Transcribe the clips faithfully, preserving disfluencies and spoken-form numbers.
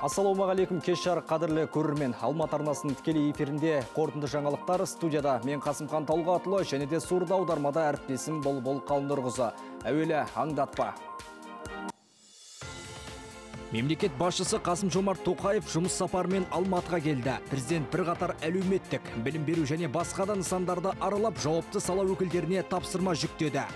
Ассалаумағалейкум, кеш жарық қадірлі көрермен. Алматы арнасының тікелей эфирінде қорытынды жаңалықтар студияда. Мен Қасымхан Талғатұлы және де сурда аудармада әріптесім Бол-Бол Қалнұрғызы. Әуелі аңдатпа. Мемлекет басшысы Қасым-Жомарт Тоқаев жұмыс сапарымен Алматыға келді. Президент бір қатар әлеуметтік, білім беру және басқа да нысандарды аралап, жауапты сала өкілдеріне тапсырма жүктеді.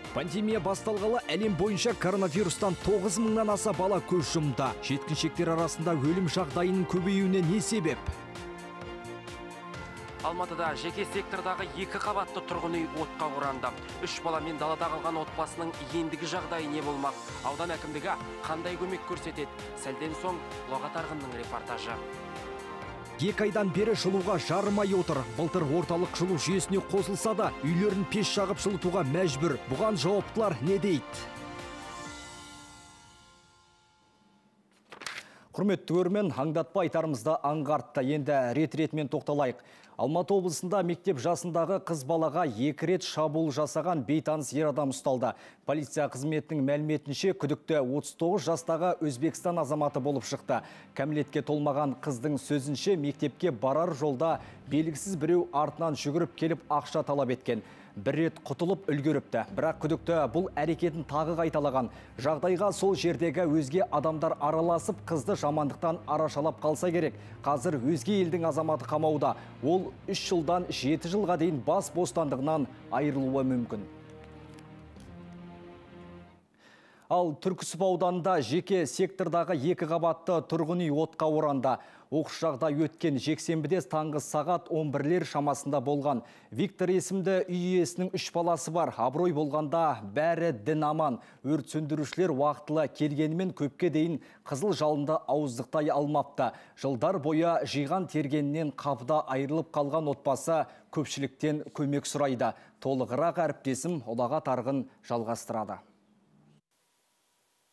Пандемия басталғалы әлем бойынша коронавирустан тоғыз мыңнан аса бала көз жұмды. Жеткіншектер арасында өлім жағдайының көбеюіне не себеп? Алматыда жеке сектордағы екі қабатты тұрғын үй отқа оранды. Үш баламен далада қалған отбасының ендігі жағдайы не болмақ? Аудан әкімдігі қандай көмек көрсетеді? Сәлден соң Ұлағат Арғынның репортажы. Екі айдан бері жылуға жарымай отыр. Былтыр орталық жылу жүйесіне қосылса да, үйлерін пеш жағып жылытуға мәжбүр. Бұған жауаптылар не дейді? Құрметті көрермен, аңдатпа айтарымызда аңғартты. Енді рет-ретмен тоқталайық. Алматы облысында мектеп жасындағы қыз балаға екі рет шабуыл жасаған бейтаныс ер адам ұсталды. Полиция қызметінің мәліметінше күдікті отыз тоғыз жастағы Өзбекстан азаматы болып шықты. Кәмелетке толмаған қыздың сөзінше мектепке барар жолда белгісіз біреу артынан жүгіріп келіп ақша талап еткен. Бір рет құтылып үлгеріпті. Бірақ күдікті бұл әрекетін тағы қайталаған. Жағдайға сол жердегі өзге адамдар араласып, қызды жамандықтан арашалап қалса керек. Қазір өзге елдің азаматы қамауда. Ол үш жылдан жеті жылға дейін бас бостандығынан айырылуы мүмкін. Ал Түрксіб ауданында жеке сектордағы екі қабатты тұрғын үй отқа оранды. Оқыс жағдай өткен жексенбіде таңғы сағат он бірлер шамасында болған. Виктор есімді үй иесінің үш баласы бар. Абырой болғанда бәрі дін аман. Өрт сөндірушілер уақытылы келгенімен көпке дейін қызыл жалынды ауыздықтай алмапты. Жылдар бойы жиған тергенінен қапыда айырылып қалған отбасы көпшіліктен көмек сұрайды. Толығырақ әріптесім Ұлағат Арғын жалғастырады.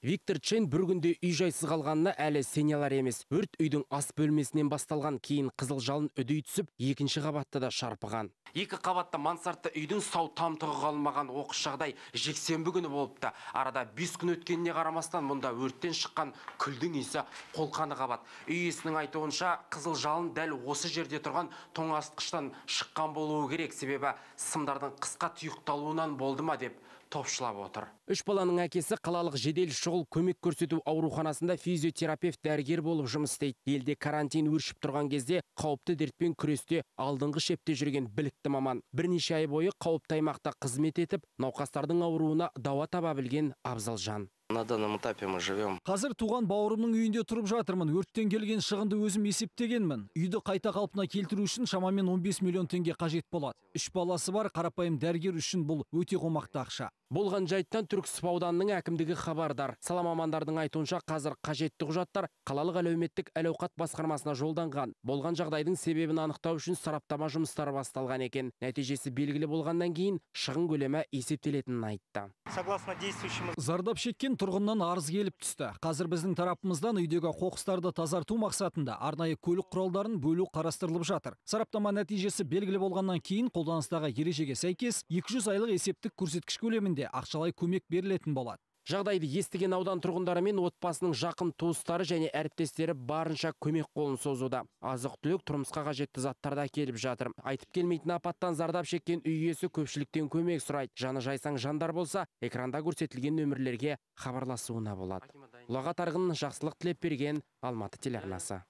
Виктор Чен бір күнде үй жайсыз қалғанына әлі сене алар емес. Өрт үйдің ас бөлмесінен басталған, кейін қызыл жалын үдей түсіп, екінші қабатта да шарпыған. Екі қабатты мансартты үйдің сау тамтығы қалмаған оқыс жағдай жексенбі күні болыпты. Арада бес күн өткеніне қарамастан мұнда өрттен шыққан күлдің иісі қолқаны қабат. Үй иесінің айтуынша қызыл жалын дәл осы жерде тұрған тоңазытқыштан шыққан болуы керек, себебі сымдардың қысқа тұйықталуынан болды ма деп топшылап отыр. Үш баланың әкесі қалалық жедел шұғыл көмек көрсету ауруханасында физиотерапевт дәрігер болып жұмыс істейді. Елде карантин өршіп тұрған кезде қауіпті дертпен күресте алдыңғы шепте жүрген білікті маман. Бірнеше ай бойы қауіпті аймақта қызмет етіп, науқастардың ауруына дауа таба білген абзал жан. На данном этапе мы живем. Қазір туған бауырымның үйінде тұрып жатырмын. Өрттен келген шығынды өзім есептегенмін. Үйді қайта қалпына келтіру үшін шамамен он бес миллион теңге қажет болады. Үш баласы бар қарапайым дәрігер үшін бұл өте қомақты ақша. Болған жайттан Түрксіб ауданының әкімдігі хабардар. Сала мамандардың айтуынша қазір қажетті құжаттар қалалық әлеуметтік әл-ауқат басқармасына жолданған. Болған жағдайдың себебін анықтау үшін сараптама жұмыстары басталған екен. Нәтижесі белгілі болғаннан кейін шығын көлемі есептелетінін айтты. Зардап шеккен тұрғыннан арыз келіп түсті. Қазір біздің тарапымыздан үйдегі қоқыстарды тазарту мақсатында арнайы көлік құралдарын бөлу қарастырылып жатыр. Сараптама нәтижесі белгілі болғаннан кейін қолданыстағы ережеге сәйкес екі жүз айлық есептік көрсеткіш көлемінде ақшалай көмек берілетін болады. Жағдайды естіген аудан тұрғындары мен отбасының жақын туыстары және әріптестері барынша көмек қолын созуда. Азық-түлік, тұрмысқа қажетті заттарда келіп жатыр. Айтып келмейтін апаттан зардап шеккен үй иесі көпшіліктен көмек сұрайды. Жаны жайсаң жандар болса, экранда көрсетілген нөмірлерге хабарласуына болады. Ұлағат Арғын, жақсылық тілеп берген, Алматы телеарнасы.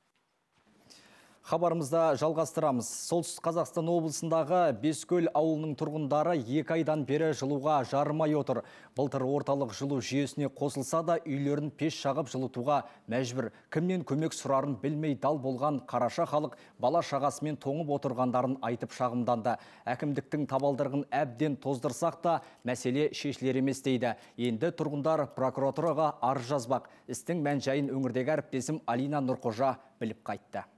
Хабарымызда жалғастырамыз. Солтүстік Қазақстан облысындағы Бескөл ауылының тұрғындары екі айдан бері жылуға жарымай отыр. Былтыр орталық жылу жүйесіне қосылса да үйлерін пеш жағып жылытуға мәжбүр. Кімнен көмек сұрарын білмей дал болған қараша халық бала шағасымен тоңып отырғандарын айтып шағымданды. Әкімдіктің табалдырығын әбден тоздырсақ та мәселе шешілер емес дейді. Енді тұрғындар прокуратураға арыз жазбақ. Істің мән-жайын өңірдегі әріптесім Алина Нұрқожа біліп қайтты.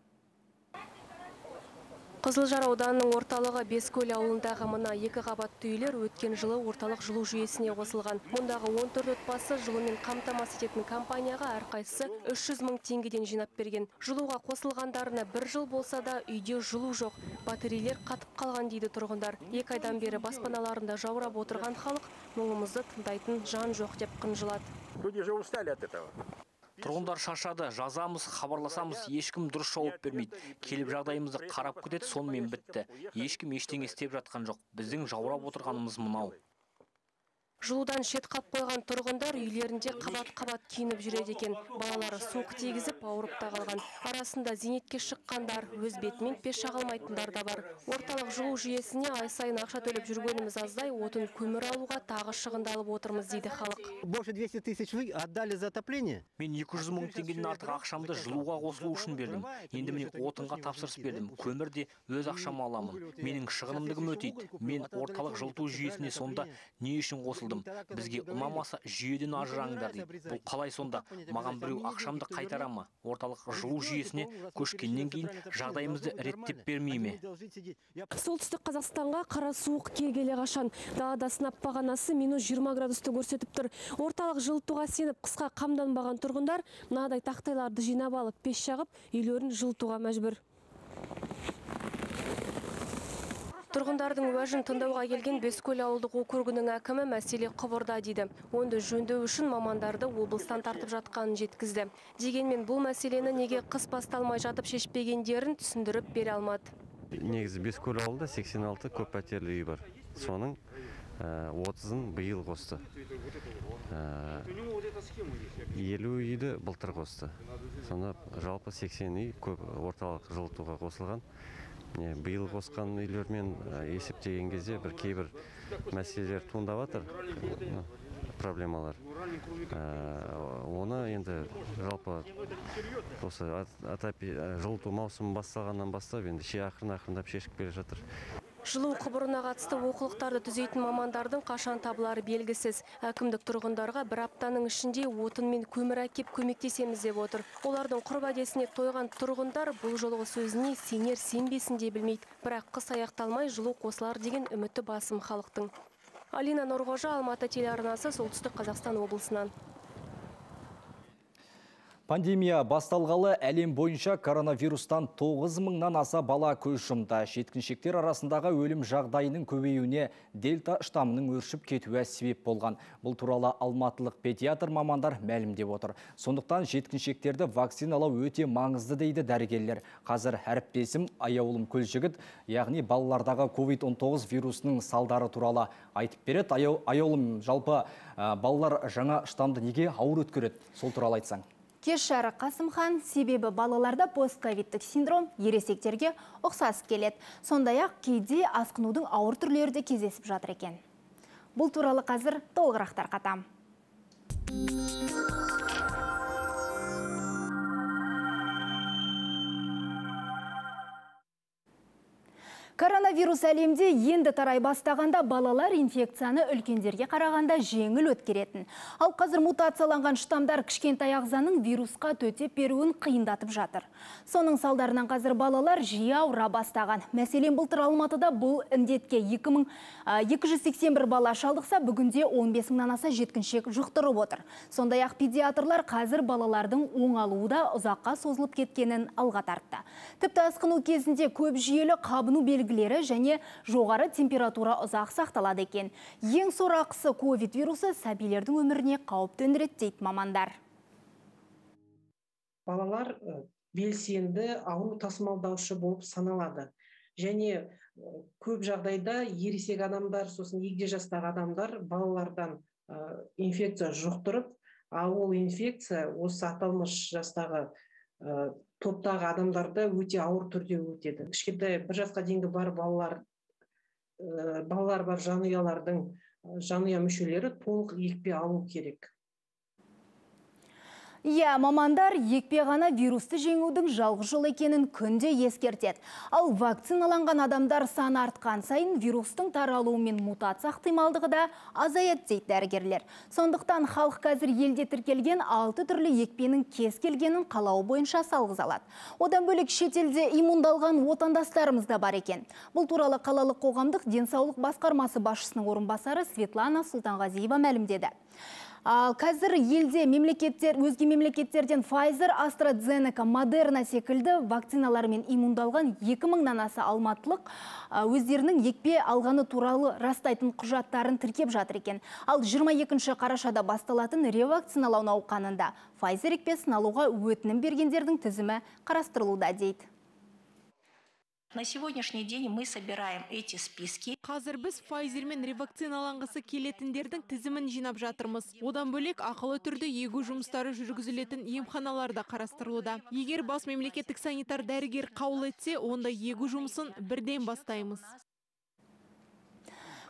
Қызылжар ауданының орталығы Бескөл ауылындағы мына екі қабатты үйлер өткен жылы орталық жылу жүйесіне қосылған. Мұндағы он төрт отбасы жылумен қамтамасыз ететін компанияға әрқайсысы үш жүз мың теңгеден жинап берген. Жылуға қосылғандарына бір жыл болса да үйде жылу жоқ. Батарейлер қатып қалған дейді тұрғындар. Екі айдан бері баспаналарында жаурап отырған халық мұңымызды тыңдайтын жан жоқ деп қынжылады. Люди же устали от этого. Тұрғындар шаршады, жазамыз, хабарласамыз, ешкім дұрыс жауап бермейді. Келіп жағдайымызды қарап кетеді, сонымен бітті. Ешкім ештеңе істеп жатқан жоқ. Біздің жаурап отырғанымыз мынау. Жылудан шет қап қойған тұрғындар үйлерінде қабат-қабат киініп жүреді екен. Балалары суық тигізіп, ауырып та қалған. Арасында зейнетке шыққандар, өз бетімен пеш жағалмайтындар да бар. Орталық жылу жүйесіне ай сайын ақша төлеп жүргеніміз аздай, отын көмір алуға тағы шығындалып отырмыз дейді халық. Больше двухсот тысяч вы отдали за отопление? Мен екі жүз мың теңгеден артық ақшамды жылуға қосылу үшін бердім. Енді міне отынға тапсырыс бердім. Көмір де өз ақшама аламын. Менің шығынымдығым өтейді. Мен орталық жылыту жүйесіне сонда не үшін қосылдым? Бізге ұнамаса жүйеден ажыраңдар дейді. Бұл қалай сонда? Маған біреу ақшамды қайтара ма? Орталық жылу жүйесіне көшкеннен кейін жағдайымызды реттеп бермей ме? Солтүстік Қазақстанға қара суық келгелі қашан. Далада сынап бағанасы минус жиырма градусты көрсетіп тұр. Орталық жылытуға сеніп қысқа қамданбаған тұрғындар мынадай тақтайларды жинап алып пеш жағып, үйлерін жылытуға мәжбүр. Тұрғындардың уәжін тыңдауға келген Бескөл ауылдық округінің әкімі мәселе құбырда дейді. Онды жөндеу үшін мамандарды облыстан тартып жатқанын жеткізді. Дегенмен бұл мәселені неге қыс басталмай жатып шешпегендерін түсіндіріп бере алмады. Негізі Бескөл ауылда сексен алты көп пәтерлі үй бар. Соның отызын биыл қосты. елу үйді былтыр қосты. Сонда жалпы сексен үй көп орталық жылытуға қосылған. Биыл қосқан үйлермен есептеген кезде бір кейбір мәселелер туындап жатыр, проблемалар. Оны енді жалпы осы жылыту маусымы басталғаннан бастап енді ақырын-ақырындап шешіп келе жатыр. Жылу құбырына қатысты олқылықтарды түзейтін мамандардың қашан табылары белгісіз. Әкімдік тұрғындарға бір аптаның ішінде отын мен көмір әкеп көмектесеміз деп отыр. Олардың құрбадесіне тойған тұрғындар бұл жолғы сөзіне сенер сенбесін де білмейді. Бірақ қыс аяқталмай жылу қосылар деген үміті басым халықтың. Алина Нұрғожа, Алматы телеарнасы, Солтүстік Қазақстан облысынан. Пандемия басталғалы әлем бойынша коронавирустан тоғыз мыңнан аса бала көз жұмды. Жеткіншектер арасындағы өлім жағдайының көбеюіне дельта штамының өршіп кетуі себеп болған. Бұл туралы алматылық педиатр мамандар мәлімдеп отыр. Сондықтан жеткіншектерді вакциналау өте маңызды дейді дәрігерлер. Қазір әріптесім Аяулым Көлжігіт, яғни балалардағы ковид он тоғыз вирусының салдары туралы айтып береді. Аяулым, жалпы балалар жаңа штамды неге ауыр өткереді? Сол туралы айтсаң. Кеш жарық Қасымхан, себебі балаларда постковидтік синдром ересектерге ұқсас келеді. Сондай-ақ кейде асқынудың ауыр түрлері де кездесіп жатыр екен. Бұл туралы қазір толығырақ тарқатам. Коронавирус әлемде енді тарай бастағанда балалар инфекцияны үлкендерге қарағанда жеңіл өткеретін. Ал қазір мутацияланған штамдар кішкентай ағзаның вирусқа төтеп беруін қиындатып жатыр. Соның салдарынан қазір балалар жиі ауыра бастаған. Мәселен, былтыр Алматыда бұл індетке екі жүз сексен бір бала шалдықса, бүгінде он бес мыңнан аса жеткіншек жұқтырып отыр. Сондай-ақ педиатрлар қазір балалардың оңалуы да ұзаққа созылып кеткенін алға тартты. Тіпті асқыну кезінде көп жүйелі қабыну белгілері және жоғары температура ұзақ сақталады екен. Ең сорақысы ковид вирусы сәбилердің өміріне қауіп төндіреді дейді мамандар. Балалар белсенді ауру тасымалдаушы болып саналады. Және көп жағдайда ересек адамдар, сосын егде жастағы адамдар балалардан инфекция жұқтырып, ал ол инфекция осы аталмыш жастағы топтағы адамдарда өте ауыр түрде өтеді. Кішкентай бір жасқа дейінгі бар балалар, балалар бар жанұялардың жанұя мүшелері толық екпе алу керек. Иә, мамандар екпе ғана вирусты жеңудің жалғыз жол екенін күнде ескертеді. Ал вакциналанған адамдар саны артқан сайын вирустың таралуы мен мутация ықтималдығы да азаяды дейді дәрігерлер. Сондықтан халық қазір елде тіркелген алты түрлі екпенің кез келгенін қалауы бойынша салғыза алады. Одан бөлек шетелде иммундалған отандастарымыз да бар екен. Бұл туралы қалалық қоғамдық денсаулық басқармасы басшысының орынбасары Светлана Сұлтанғазиева мәлімдеді. Ал қазір елде мемлекеттер, өзге мемлекеттерден Pfizer, AstraZeneca, Moderna секілді вакциналарымен иммундалған екі мыңнан аса алматылық өздерінің екпе алғаны туралы растайтын құжаттарын тіркеп жатыр екен. Ал жиырма екінші қарашада басталатын ревакциналау науқанында Pfizer екпесін алуға өтінім бергендердің тізімі қарастырылуда дейді. На сегодняшний день мы собираем эти списки. Қазір біз Pfizer-мен ревакциналанғысы келетіндердің тізімін жинап жатырмыз. Одан бөлек ақылы түрде егу жұмыстары жүргізілетін емханаларда қарастырылуда. Егер бас мемлекеттік санитар дәрігер қаулы етсе, онда егу жұмысын бірден бастаймыз.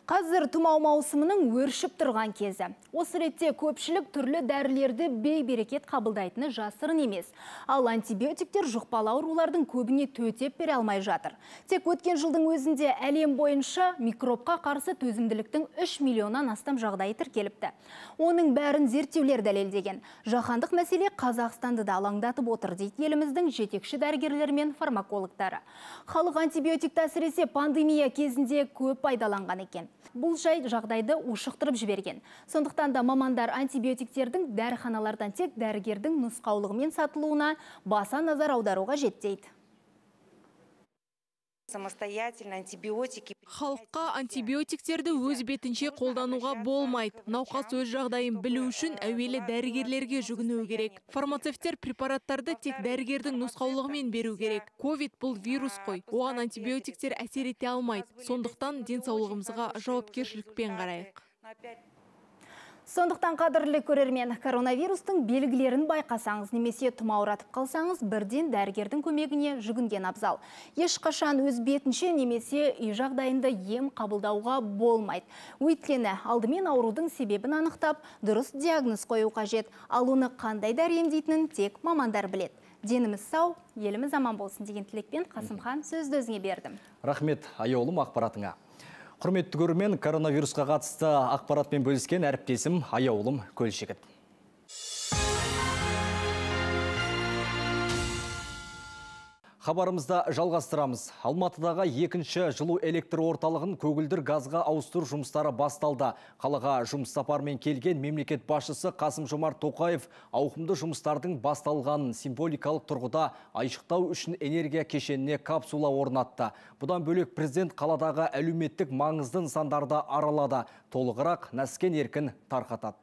Қазір тұмау маусымының өршіп тұрған кезі. Осы ретте көпшілік түрлі дәрілерді бей-берекет қабылдайтыны жасырын емес. Ал антибиотиктер жұқпалы аурулардың көбіне төтеп бере алмай жатыр. Тек өткен жылдың өзінде әлем бойынша микробқа қарсы төзімділіктің үш миллионнан астам жағдайы тіркеліпті. Оның бәрін зерттеулер дәлелдеген. Жаһандық мәселе Қазақстанды да алаңдатып отыр дейді еліміздің жетекші дәрігерлері мен фармакологтары. Халық антибиотикті әсіресе пандемия кезінде көп пайдаланған екен. Бұл жай жағдайды ушықтырып жіберген. Сондықтан да мамандар антибиотиктердің дәріханалардан тек дәрігердің нұсқаулығымен сатылуына баса назар аударуға жетті. Самостоятельно антибиотики. Халыққа антибиотиктерді өз бетінше қолдануға болмайды. Науқас өз жағдайын білу үшін әуелі дәрігерлерге жүгіну керек. Фармацевттер препараттарды тек дәрігердің нұсқаулығымен беру керек. Ковид бұл вирус қой. Оған антибиотиктер әсер ете алмайды. Сондықтан денсаулығымызға жауапкершілікпен қарайық. Сондықтан қадірлі көрермен, коронавирустың белгілерін байқасаңыз, немесе тұмауратып қалсаңыз, бірден дәрігердің көмегіне жүгінген абзал. Ешқашан өз бетінше немесе үй жағдайында ем қабылдауға болмайды. Өйткені алдымен аурудың себебін анықтап, дұрыс диагноз қою қажет. Ал оны қандай дәрі емдейтінін тек мамандар біледі. Деніміз сау, еліміз аман болсын деген тілекпен Қасымхан сөзді өзіңе бердім. Рахмет, аяулым ақпаратыңа. Құрметті көрермен, коронавирусқа қатысты ақпаратпен бөліскен әріптесім аяулым Көлшегіт. Хабарымызда жалғастырамыз. Алматыдағы екінші жылу электр орталығын көгілдір газға ауыстыру жұмыстары басталды. Қалаға жұмыс сапармен келген мемлекет басшысы Қасым-Жомарт Тоқаев ауқымды жұмыстардың басталғанын символикалық тұрғыда айшықтау үшін энергия кешеніне капсула орнатты. Бұдан бөлек президент қаладағы әлеуметтік маңызды нысандарды аралады. Толығырақ Нәскен Еркін тарқатады.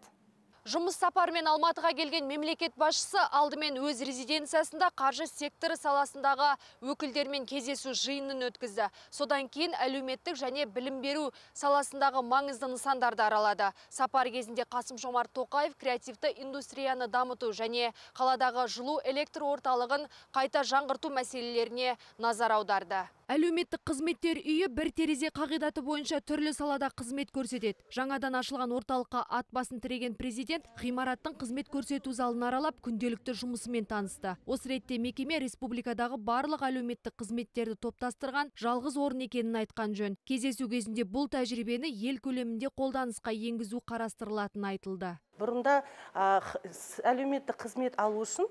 Жұмыс сапармен Алматыға келген мемлекет басшысы алдымен өз резиденциясында қаржы секторы саласындағы өкілдермен кездесу жиынын өткізді. Содан кейін әлеуметтік және білім беру саласындағы маңызды нысандарды аралады. Сапар кезінде Қасым-Жомарт Тоқаев креативті индустрияны дамыту және қаладағы жылу электр орталығын қайта жаңғырту мәселелеріне назар аударды. Әлеуметтік қызметтер үйі бір терезе қағидаты бойынша түрлі салада қызмет көрсетеді. Жаңадан ашылған орталыққа ат басын тіреген президент ғимараттың қызмет көрсету залын аралап, күнделікті жұмысымен танысты. Осы ретте мекеме республикадағы барлық әлеуметтік қызметтерді топтастырған жалғыз орын екенін айтқан жөн. Кездесу кезінде бұл тәжірибені ел көлемінде қолданысқа енгізу қарастырылатыны айтылды. Бұрында әлеуметтік қызмет алу үшін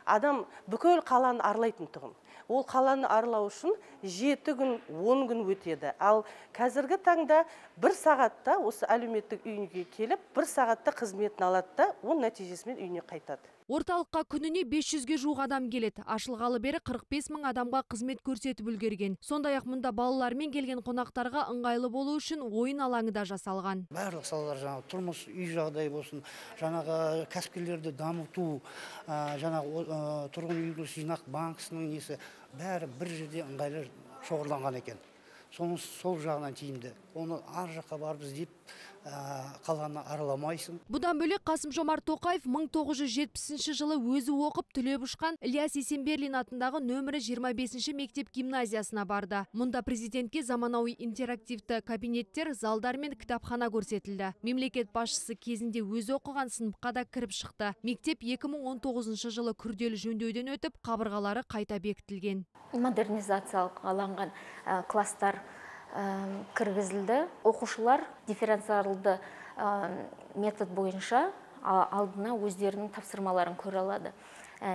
адам бүкіл қаланы аралайтын тұғын. Ол қаланы аралау үшін жеті күн, он күн өтеді. Ал қазіргі таңда бір сағатта осы әлеуметтік үйіне келіп, бір сағатта қызметін алады да, ол нәтижесімен үйіне қайтады. Орталыққа күніне бес жүзге жуық адам келеді. Ашылғалы бері қырық бес мың адамға қызмет көрсетіп үлгерген. Сондай-ақ мұнда балалармен келген қонақтарға ыңғайлы болу үшін ойын алаңы да жасалған. Барлық салалар, жаңағы тұрмыс үй жағдайы болсын, жаңағы кәсіпкерлерді дамыту, жаңағы тұрғын үй жинақ банкісінің несі, бәрі бір жерде ыңғайлы шоғырланған екен. Соның сол жағынан тиімді. Оны ар жаққа барып іздеп қаланы араламайсың. Бұдан бөлек Қасым-Жомарт Тоқаев мың тоғыз жүз жетпісінші жылы өзі оқып түлеп ұшқан Ілияс Есенберлин атындағы нөмірі жиырма бесінші мектеп гимназиясына барды. Мұнда президентке заманауи интерактивті кабинеттер, залдар мен кітапхана көрсетілді. Мемлекет басшысы кезінде өзі оқыған сыныпқа да кіріп шықты. Мектеп екі мың он тоғызыншы жылы күрделі жөндеуден өтіп, қабырғалары қайта бекітілген. Модернизациялық алынған класстар кіргізілді. Оқушылар дифференциалды метод бойынша алдына өздерінің тапсырмаларын көре алады.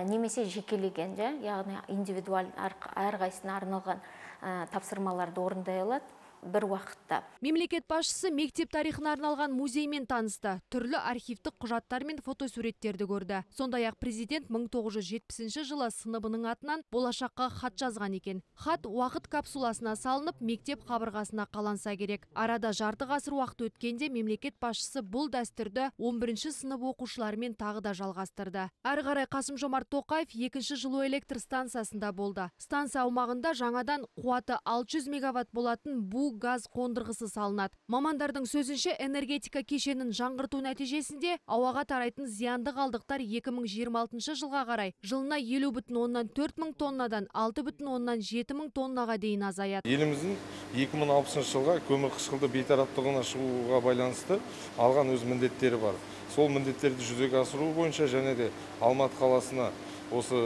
Немесе жекелеген, яғни индивидуаль әрқайсына арналған тапсырмаларды орындай алады. бір уақытта. Мемлекет басшысы мектеп тарихына арналған музеймен танысты. Түрлі архивтік құжаттар мен фотосуреттерді көрді. Сондай-ақ президент мың тоғыз жүз жетпісінші жылы сыныбының атынан болашаққа хат жазған екен. Хат уақыт капсуласына салынып, мектеп қабырғасына қаланса керек. Арада жарты ғасыр уақыт өткенде мемлекет басшысы бұл дәстүрді он бірінші сынып оқушыларымен тағы да жалғастырды. Әрі қарай Қасым-Жомарт Тоқаев екінші жылу электр станциясында болды. Станция аумағында жаңадан қуаты алты жүз мегаватт болатын бу газ қондырғысы салынады. Мамандардың сөзінше, энергетика кешенін жаңғырту нәтижесінде ауаға тарайтын зиянды қалдықтар екі мың жиырма алтыншы жылға қарай жылына елу бүтін оннан төрт мың тоннадан алты бүтін оннан жеті мың тоннаға дейін азаяды. Еліміздің екі мың алпысыншы жылға көмір қышқылды бейтараптығына шығуға байланысты алған өз міндеттері бар. Сол міндеттерді жүзеге асыру бойынша және де Алматы қаласына осы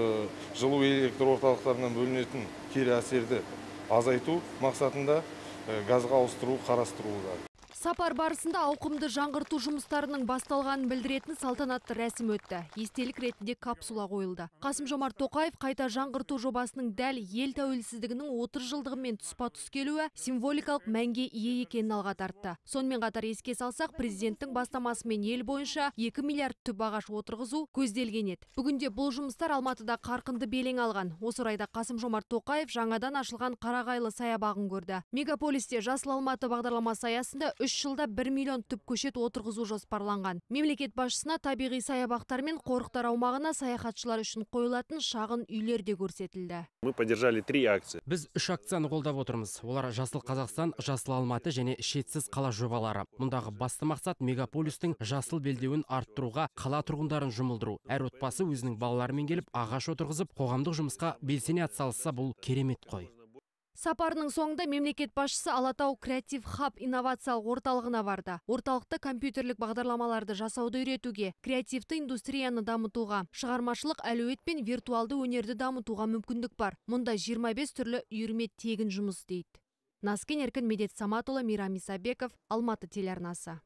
жылу электр орталықтарынан бөлінетін кері әсерді азайту мақсатында газға ауыстыру қарастырылуда. Сапар барысында ауқымды жаңғырту жұмыстарының басталғанын білдіретін салтанатты рәсім өтті. Естелік ретінде капсула қойылды. Қасым-Жомарт Тоқаев қайта жаңғырту жобасының дәл ел тәуелсіздігінің отыз жылдығымен тұспа-тұс келуі символикалық мәнге ие екенін алға тартты. Сонымен қатар еске салсақ, президенттің бастамасымен ел бойынша екі миллиард түп ағаш отырғызу көзделген еді. Бүгінде бұл жұмыстар Алматыда қарқынды белең алған. Осы орайда Қасым-Жомарт Тоқаев жаңадан ашылған Қарағайлы саябағын көрді. Мегаполисте Жасыл Алматы бағдарламасы аясында үш жылда бір миллион түп көшет отырғызу жоспарланған. Мемлекет басшысына табиғи саябақтар мен қорықтар аумағына саяхатшылар үшін қойылатын шағын үйлер де көрсетілді. Мы поддержали три акции. Біз үш акцияны қолдап отырмыз. Олар Жасыл Қазақстан, Жасыл Алматы және Шетсіз қала жобалары. Мұндағы басты мақсат мегаполистің жасыл белдеуін арттыруға, қала тұрғындарын жұмылдыру. Әр отбасы өзінің балаларымен келіп ағаш отырғызып, қоғамдық жұмысқа белсене атсалысса, бұл керемет қой. Сапарының соңында мемлекет басшысы Алатау Креатив Хаб инновациялық орталығына барды. Орталықта компьютерлік бағдарламаларды жасауды үйретуге, креативті индустрияны дамытуға, шығармашылық әлеует пен виртуалды өнерді дамытуға мүмкіндік бар. Мұнда жиырма бес түрлі үйірме тегін жұмыс істейді. Наскен Еркін, Медет Саматұлы, Мейрам Исабеков, Алматы телеарнасы.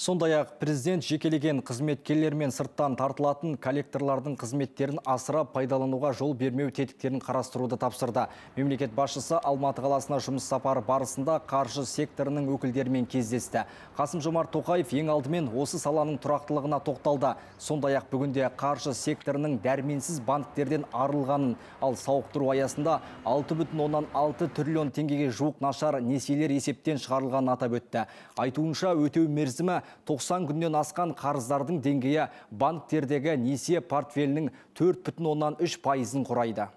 Сондай-ақ президент жекелеген қызметкерлер мен сырттан тартылатын коллекторлардың қызметтерін асыра пайдалануға жол бермеу тетіктерін қарастыруды тапсырды. Мемлекет басшысы Алматы қаласына жұмыс сапары барысында қаржы секторының өкілдерімен кездесті. Қасым-Жомарт Тоқаев ең алдымен осы саланың тұрақтылығына тоқталды. Сондай-ақ бүгінде қаржы секторының дәрменсіз банктерден арылғанын, ал сауықтыру аясында алты бүтін оннан алты триллион теңгеге жуық нашар несиелер есептен шығарылғанын атап өтті. Айтуынша өтеу мерзімі тоқсан күннен асқан қарыздардың деңгейі банктердегі несие портфелінің төрт бүтін оннан үш пайызын құрайды.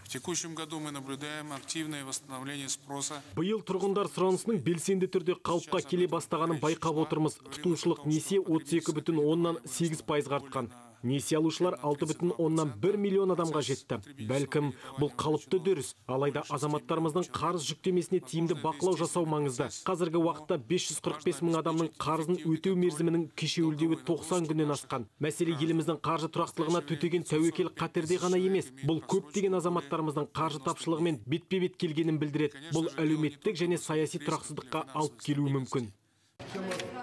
В текущем году мы наблюдаем активное восстановление спроса. Биыл тұрғындар сұранысының белсенді түрде қалыпқа келе бастағанын байқап отырмыз. Тұтынушылық несие отыз екі бүтін оннан сегіз пайызға артқан. Несие алушылар алты бүтін оннан бір миллион адамға жетті. Бәлкім бұл қалыпты дөріс, алайда азаматтарымыздың қарыз жүктемесіне тиімді бақылау жасау маңызды. Қазіргі уақытта бес жүз қырық бес мың адамның қарызын өтеу мерзімінің кешеуілдеуі тоқсан күннен асқан. Мәселе еліміздің қаржы тұрақтылығына төтеген тәуекел қатерде ғана емес. Бұл көптеген азаматтарымыздың қаржы тапшылығымен бетпе-бет келгенін білдіреді. Бұл әлеуметтік және саяси тұрақсыздыққа алып келуі мүмкін.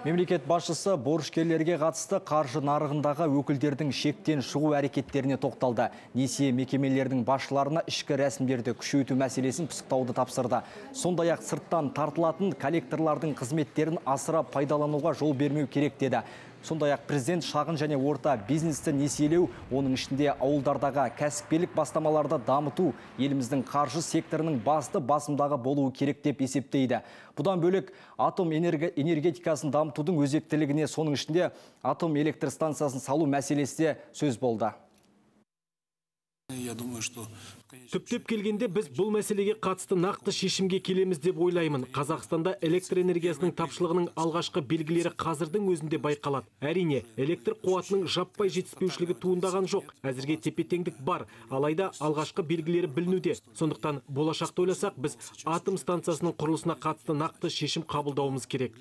Мемлекет басшысы борышкерлерге қатысты қаржы нарығындағы өкілдердің шектен шығу әрекеттеріне тоқталды. Несие мекемелердің басшыларына ішкі рәсімдерді күшейту мәселесін пысықтауды тапсырды. Сондай-ақ сырттан тартылатын коллекторлардың қызметтерін асыра пайдалануға жол бермеу керек деді. Сондай-ақ президент шағын және орта бизнесті несиелеу, оның ішінде ауылдардағы кәсіпкерлік бастамаларды дамыту еліміздің қаржы секторының басты басымдағы болуы керек деп есептейді. Бұдан бөлек атом энергетикасын дамытудың өзектілігіне, соның ішінде атом электр станциясын салу мәселесі де сөз болды. Түптеп келгенде біз бұл мәселеге қатысты нақты шешімге келеміз деп ойлаймын. Қазақстанда электр энергиясының тапшылығының алғашқы белгілері қазірдің өзінде байқалады. Әрине, электр қуатының жаппай жетіспеушілігі туындаған жоқ. Әзірге тепе-теңдік бар, алайда алғашқы белгілері білінуде. Сондықтан болашақты ойласақ, біз атом станциясының құрылысына қатысты нақты шешім қабылдауымыз керек.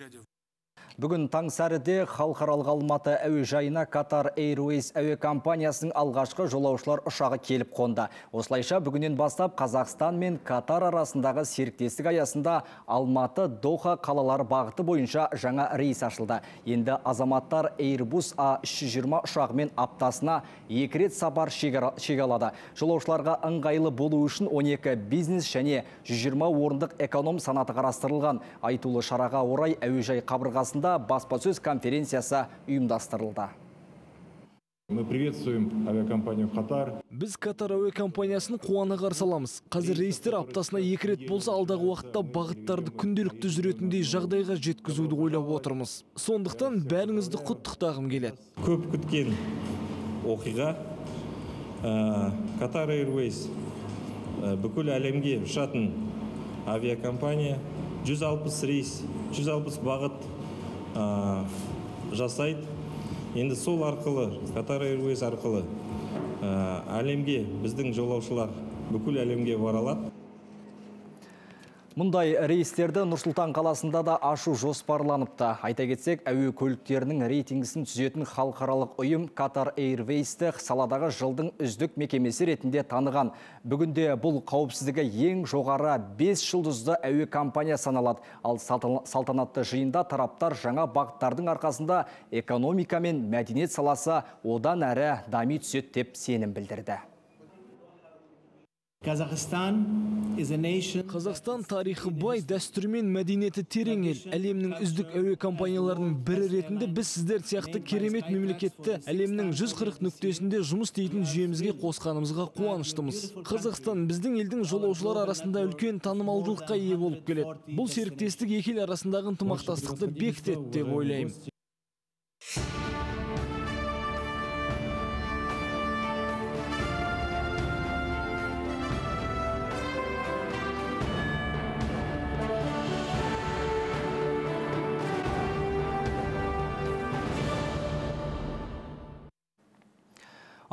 Бүгін таң сәріде халықаралық Алматы әуежайына Qatar Airways әуе компаниясының алғашқы жолаушылар ұшағы келіп қонды. Осылайша бүгіннен бастап Қазақстан мен Катар арасындағы серіктестік аясында Алматы Доха қалалары бағыты бойынша жаңа рейс ашылды. Енді азаматтар Airbus А үш жүз жиырма ұшағымен аптасына екі рет сапар шегалады. Жолаушыларға ыңғайлы болу үшін он екі бизнес және жүз жиырма орындық эконом санаты қарастырылған. Айтулы шараға орай әуежай қабырғасында баспасөз конференциясы ұйымдастырылды. Мы приветствуем авиакомпанию Qatar. Біз Катар әуе компаниясын қуана қарсы аламыз. Қазір рейстер аптасына екі рет болса, алдағы уақытта бағыттарды күнделікті жүретіндей жағдайға жеткізуді ойлап отырмыз. Сондықтан бәріңізді құттықтағым келеді. Көп күткен оқиға. Qatar Airways бүкіл әлемге ұшатын авиакомпания, жүз алпыс рейс, жүз алпыс бағыт жасайды. Енді сол арқылы, Qatar Airways арқылы әлемге, біздің жолаушылар бүкіл әлемге бара алады. Мұндай рейстерді Нұр-Сұлтан қаласында да ашу жоспарланыпты. Айта кетсек, әуе көліктерінің рейтингісін түзетін халықаралық ұйым Qatar Airways-ті саладағы жылдың үздік мекемесі ретінде таныған. Бүгінде бұл қауіпсіздігі ең жоғары бес жұлдызды әуе компания саналады. Ал салтанатты жиында тараптар жаңа бағыттардың арқасында экономика мен мәдениет саласы одан әрі дами түседі деп сенім білдірді. Қазақстан тарихы бай, дәстүрі мен мәдениеті терең ел. Әлемнің үздік әуе компанияларының бірі ретінде біз сіздер сияқты керемет мемлекетті әлемнің жүз қырық нүктесінде жұмыс істейтін жүйемізге қосқанымызға қуаныштымыз. Қазақстан біздің елдің жолаушылар арасында үлкен танымалдылыққа ие болып келеді. Бұл серіктестік екі ел арасындағы ынтымақтастықты бекітеді деп ойлаймын.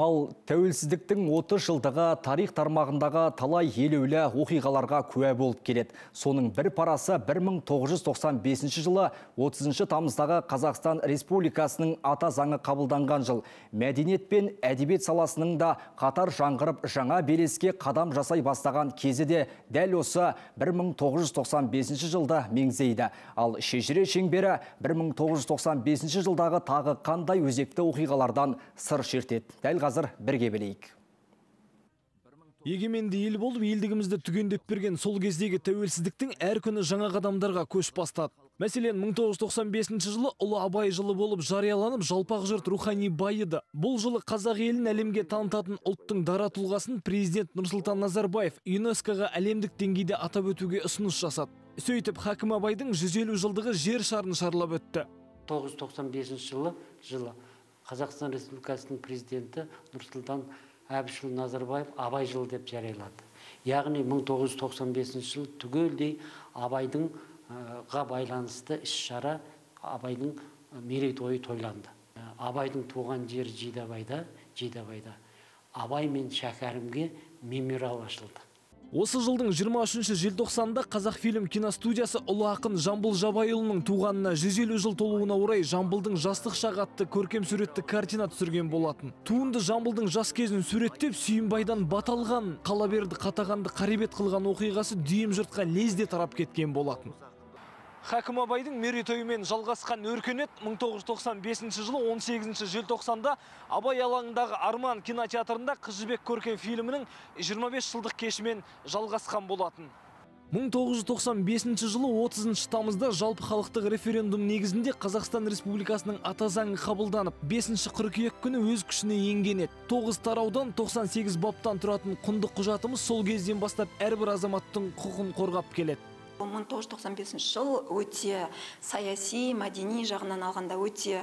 Ал тәуелсіздіктің отыз жылдығы тарих тармағындағы талай елеулі оқиғаларға куә болып келеді. Соның бір парасы бір мың тоғыз жүз тоқсан бесінші жылы отызыншы тамыздағы Қазақстан Республикасының ата заңы қабылданған жыл. Мәдениет пен әдебиет саласының да қатар жаңғырып жаңа белеске қадам жасай бастаған кезі де дәл осы бір мың тоғыз жүз тоқсан бесінші жылда меңзейді. Ал шежіре шеңбері бір мың тоғыз жүз тоқсан бесінші жылдағы тағы қандай өзекті оқиғалардан сыр шертеді. Дәл қазір бірге білейік. Егеменді ел болып, елдігімізді түгендеп берген сол кездегі тәуелсіздіктің әр күні жаңа қадамдарға көш бастады. Мәселен, мың тоғыз жүз тоқсан бесінші жылы Ұлы Абай жылы болып жарияланып, жалпақ жұрт рухани байыды. Бұл жылы қазақ елін әлемге танытатын ұлттың дара тұлғасын президент Нұрсұлтан Назарбаев ЮНЕСКО-ға әлемдік деңгейде атап өтуге ұсыныс жасады. Сөйтіп, Хакім Абайдың жүз елу жылдығы жер шарын шарлап өтті. тоғыз жүз тоқсан бесінші жылы жылы Қазақстан Республикасының президенті Нұрсұлтан Әбішұлы Назарбаев Абай жылы деп жариялады. Яғни мың тоғыз жүз тоқсан бесінші жыл түгелдей Абайдың ға байланысты іс-шара, Абайдың мерейтойы тойланды. Абайдың туған жері Жидебайда, Жидебайда Абай мен Шәкәрімге мемориал ашылды. Осы жылдың жиырма үшінші желтоқсанында Қазақфильм киностудиясы ұлы ақын Жамбыл Жабайұлының туғанына жүз елу жыл толуына орай Жамбылдың жастық шағы атты көркем суретті картина түсірген болатын. Туынды Жамбылдың жас кезін суреттеп, Сүйінбайдан бат алған, Қалаберді қатағанды қаребет қылған оқиғасы дүйім жұртқа лезде тарап кеткен болатын. Хакім Абайдың мерейтойымен жалғасқан өркениет мың тоғыз жүз тоқсан бесінші жылы он сегізінші желтоқсанда Абай алаңындағы Арман кинотеатрында Қыз жібек көркем фильмінің жиырма бес жылдық кешімен жалғасқан болатын. мың тоғыз жүз тоқсан бесінші жылы отызыншы тамызда жалпы халықтық референдум негізінде Қазақстан Республикасының ата заңы қабылданып, бесінші қыркүйек күні өз күшіне енген еді. тоғыз тараудан тоқсан сегіз баптан тұратын құнды құжатымыз сол кезден бастап әрбір азаматтың құқығын қорғап келеді. мың тоғыз жүз тоқсан бесінші жыл өте саяси, мәдени жағынан алғанда өте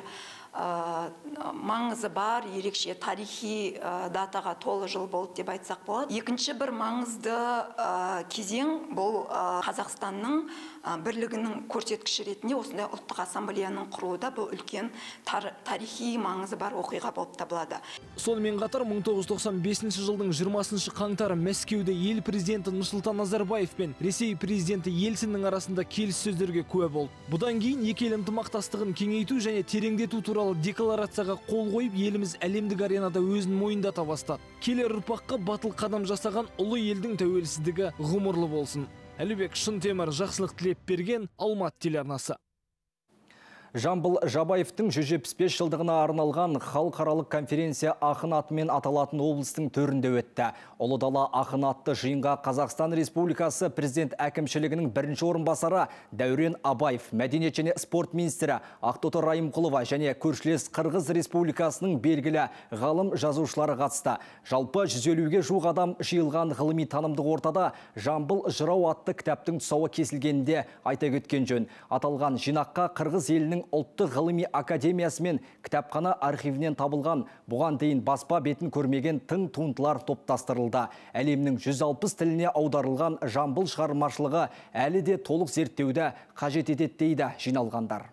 маңызы бар, ерекше тарихи датаға толы жыл болды деп айтсақ болады. Екінші бір маңызды кезең бұл Қазақстанның бірлігінің көрсеткіші ретінде осындай ұлттық ассамблеяның құруында бұл үлкен тарихи маңызы бар оқиға болып табылады. Сонымен қатар мың тоғыз жүз тоқсан бесінші жылдың жиырмасыншы қаңтары Мәскеуде ел президенті Нұрсұлтан Назарбаев пен Ресей президенті Ельциннің арасында келіссөздерге куә болды. Бұдан кейін екі ел ынтымақтастығын кеңейту және тереңдету туралы декларацияға қол қойып, еліміз әлемдік аренада өзін мойындата бастады. Келер ұрпаққа батыл қадам жасаған ұлы елдің тәуелсіздігі ғұмырлы болсын. Әлібек Шынтемір, жақсылық тілеп берген, Алматы телеарнасы. Жамбыл Жабаевтың жүз жетпіс бес жылдығына арналған халықаралық конференция ақын атымен аталатын облыстың төрінде өтті. Ұлы дала ақын атты жиынға Қазақстан Республикасы президент әкімшілігінің бірінші орынбасары Дәурен Абаев, мәдениет және спорт министрі Ақтоты Райымқұлова және көршілес Қырғыз Республикасының белгілі ғалым жазушылары қатысты. Жалпы жүз елуге жуық адам жиылған ғылыми танымдық ортада Жамбыл жырау атты кітаптың тұсауы кесілгенде айта кеткен жөн. Аталған жинаққа Қырғыз елінің ұлттық ғылыми академиясы мен кітапхана архивінен табылған, бұған дейін баспа бетін көрмеген тың туындылар топтастырылды. Әлемнің жүз алпыс тіліне аударылған Жамбыл шығармашылығы әлі де толық зерттеуді қажет етеді дейді жиналғандар.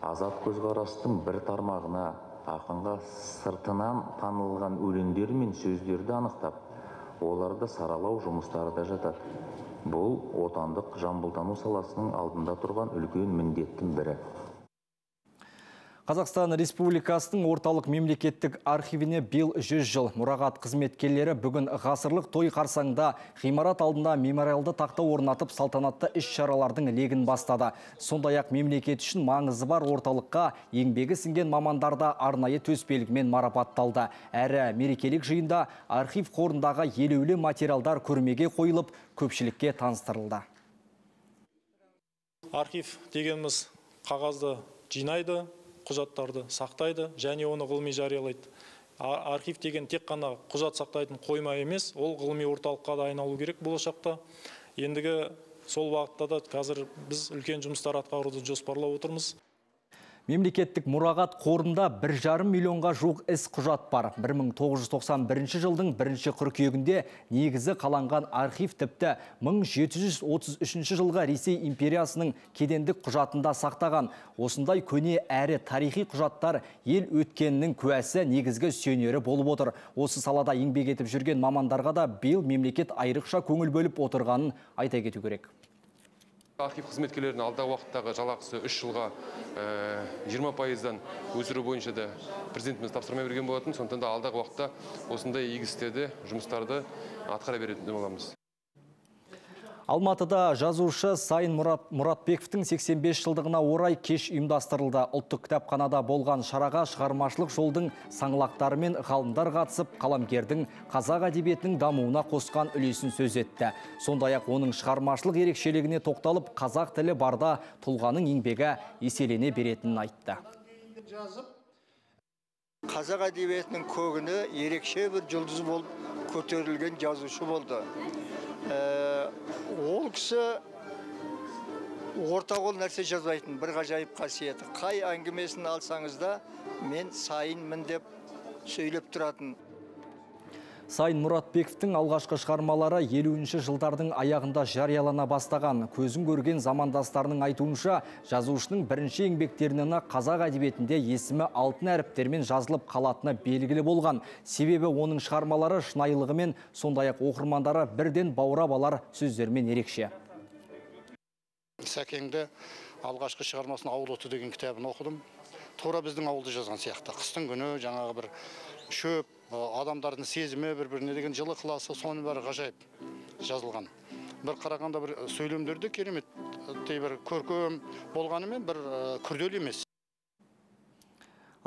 Азат көзқарастың бір тармағына ақынға сыртынан танылған өлеңдер мен сөздерді анықтап, оларды саралау жұмыстары да жатады. Бұл отандық жамбылтану саласының алдында тұрған үлкен міндеттің бірі. Қазақстан Республикасының орталық мемлекеттік архивіне биыл жүз жыл. Мұрағат қызметкерлері бүгін ғасырлық той қарсаңда ғимарат алдында мемориалды тақта орнатып салтанатты іс-шаралардың легін бастады. Сондай-ақ мемлекет үшін маңызы бар орталыққа еңбегі сіңген мамандарда арнайы төсбелгімен марапатталды. Әрі мерекелік жиында архив қорындағы елеулі материалдар көрмеге қойылып, көпшілікке таныстырылды. Архив дегеніміз қағазды жинайды, құжаттарды сақтайды және оны ғылыми жариялайды. Архив деген тек қана құжат сақтайтын қойма емес, ол ғылыми орталыққа да айналу керек болашақта. Ендігі сол бағытта да қазір біз үлкен жұмыстар атқаруды жоспарлап отырмыз. Мемлекеттік мұрағат қорында бір жарым миллионға жуық іс құжат бар. бір мың тоғыз жүз тоқсан бірінші жылдың бірінші қыркүйегінде негізі қаланған архив тіпті мың жеті жүз отыз үшінші жылға Ресей империясының кедендік құжатында сақтаған. Осындай көне әрі тарихи құжаттар ел өткенінің куәсі, негізгі сүйенері болып отыр. Осы салада еңбек етіп жүрген мамандарға да биыл мемлекет айрықша көңіл бөліп отырғанын айта кету керек. Архив қызметкерлерінің алдағы уақыттағы жалақысы үш жылға жиырма пайыздан өсіру бойынша да президентіміз тапсырма берген болатын. Сондықтан да алдағы уақытта осындай игі істерді, жұмыстарды атқара беретін боламыз. Алматыда жазушы Сайын Мұратбековтің сексен бес жылдығына орай кеш ұйымдастырылды. Ұлттық кітапханада болған шараға шығармашылық жолдың саңлақтары мен ғалымдар қатысып, қаламгердің қазақ әдебиетінің дамуына қосқан үлесін сөз етті. Сондай-ақ оның шығармашылық ерекшелігіне тоқталып, қазақ тілі барда тұлғаның еңбегі еселене беретінін айтты. Қазақ әдебиетінің көгіне ерекше бір жұлдыз болып көтерілген жазушы болды. Ол кісі орта қол нәрсе жазбайтын бір ғажайып қасиеті. Қай әңгімесін алсаңызда мен сайынмын деп сөйлеп тұратын. Сайын Мұратбековтің алғашқы шығармалары елуінші жылдардың аяғында жариялана бастаған. Көзін көрген замандастарының айтуынша, жазушының бірінші еңбектерінен қазақ әдебиетінде есімі алтын әріптермен жазылып қалатыны белгілі болған. Себебі оның шығармалары шынайылығымен, сондай-ақ оқырмандары бірден баурап алар сөздермен ерекше. Сәкеңді алғашқы шығармасын «Ауыл оты» деген кітабын оқыдым. Тура біздің ауылды жазған сияқты. Қыстың күні жаңағы бір шөп, адамдардың сезімі бір-біріне деген жылы қыласы, соның бәрі ғажайып жазылған. Бір қарағанда бір сөйлемдерді керемет, бір көркем болғанымен бір күрделі емес.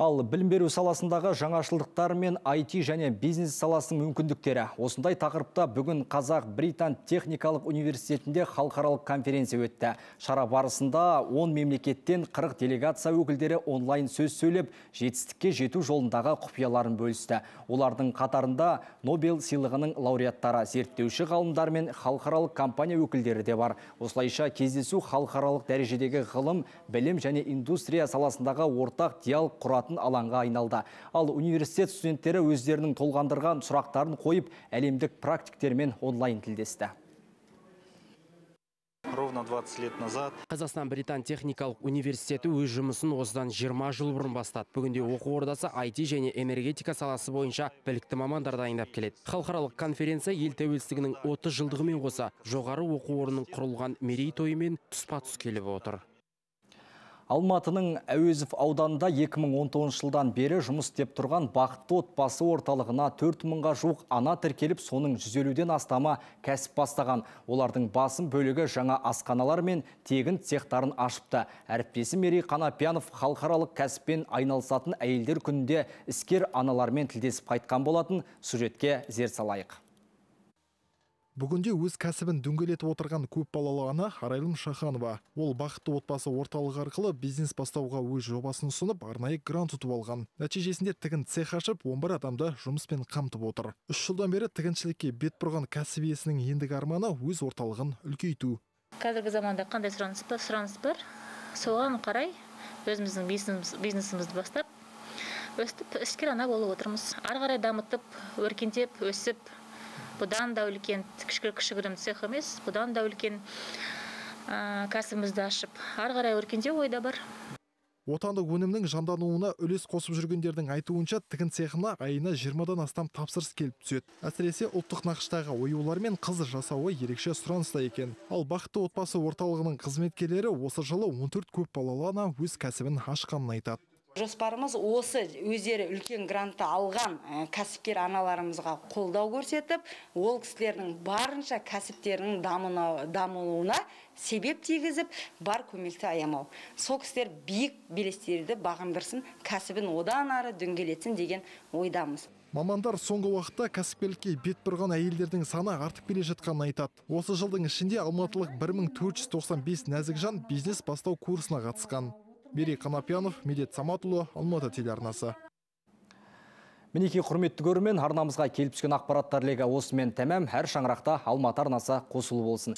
Ал білім беру саласындағы жаңашылдықтар мен ай ти және бизнес саласының мүмкіндіктері. Осындай тақырыпта бүгін Қазақ-Британ техникалық университетінде халықаралық конференция өтті. Шара барысында он мемлекеттен қырық делегация өкілдері онлайн сөз сөйлеп, жетістікке жету жолындағы құпияларын бөлісті. Олардың қатарында Нобель сыйлығының лауреаттары, зерттеуші ғалымдар мен халықаралық компания өкілдері де бар. Осылайша кездесу халықаралық дәрежедегі ғылым, білім және индустрия саласындағы ортақ диалог құратын алаңға айналды. Ал университет студенттері өздерінің толғандырған сұрақтарын қойып, әлемдік практиктермен онлайн тілдесті. Ровно двадцать лет назад Қазақстан-Британ техникалық университеті өз жұмысын осыдан жиырма жыл бұрын бастады. Бүгінде оқу ордасы ай ти және энергетика саласы бойынша білікті мамандар дайындап келеді. Халықаралық конференция ел тәуелсіздігінің отыз жылдығымен қоса жоғары оқу орнының құрылған мерейтойымен тұспа-тұс келіп отыр. Алматының Әуезов ауданында екі мың он тоғызыншы жылдан бері жұмыс істеп тұрған бақытты отбасы орталығына төрт мыңға жуық ана тіркеліп, соның жүз елуден астамы кәсіп бастаған. Олардың басым бөлігі жаңа асханалар мен тегін цехтарын ашыпты. Әріптесі Мерей Қанапиянов халықаралық кәсіппен айналысатын әйелдер күнінде іскер аналармен тілдесіп қайтқан болатын. Сюжетке зер салайық. Бүгінде өз кәсібін дөңгелетіп отырған көп балалы ана Арайлым Шаханова. Ол бақытты отбасы орталығы арқылы бизнес бастауға өз жобасын ұсынып, арнайы грант ұтып алған. Нәтижесінде тігін цех ашып, он бір адамды жұмыспен қамтып отыр. Үш жылдан бері тігіншілікке бет бұрған кәсіп иесінің ендігі арманы өз орталығын үлкейту. Қазіргі заманда қандай сұраныс бар, сұраныс бар. Соған қарай өзіміздің бизнесімізді бастап, өстіп іскер ана болып отырмыз. Ары қарай дамытып, өркендеп, өсіп, бұдан да үлкен, кішігірім цех емес, бұдан да үлкен кәсібімізді ашып, ары қарай өркендеу ойда бар. Отандық өнімнің жандануына үлес қосып жүргендердің айтуынша, тігін цехына айына жиырмадан астам тапсырыс келіп түседі. Әсіресе ұлттық нақыштағы оюлар мен қыз жасауы ерекше сұраныста екен. Ал бақытты отбасы орталығының қызметкерлері осы жылы он төрт көп балалы ана өз кәсібін ашқанын айтады. Жоспарымыз осы өздері үлкен грантты алған кәсіпкер аналарымызға қолдау көрсетіп, ол кісілердің барынша кәсіптерінің дамуына себеп тигізіп, бар көмекті аямау. Сол кісілер биік белестерді бағындырсын, кәсібін одан ары дөңгелетсін деген ойдамыз. Мамандар соңғы уақытта кәсіпкерлікке бет бұрған әйелдердің саны артып келе жатқанын айтады. Осы жылдың ішінде алматылық бір мың төрт жүз тоқсан бес нәзік жан бизнес бастау курсына қатысқан. Мерей Қанапиянов, Медет Саматұлы, Алматы телеарнасы. Мінеки құрметті көрермен, арнамызға келіп түскен ақпараттар легі осымен тәмам. Әр шаңырақта Алматы арнасы қосылы болсын.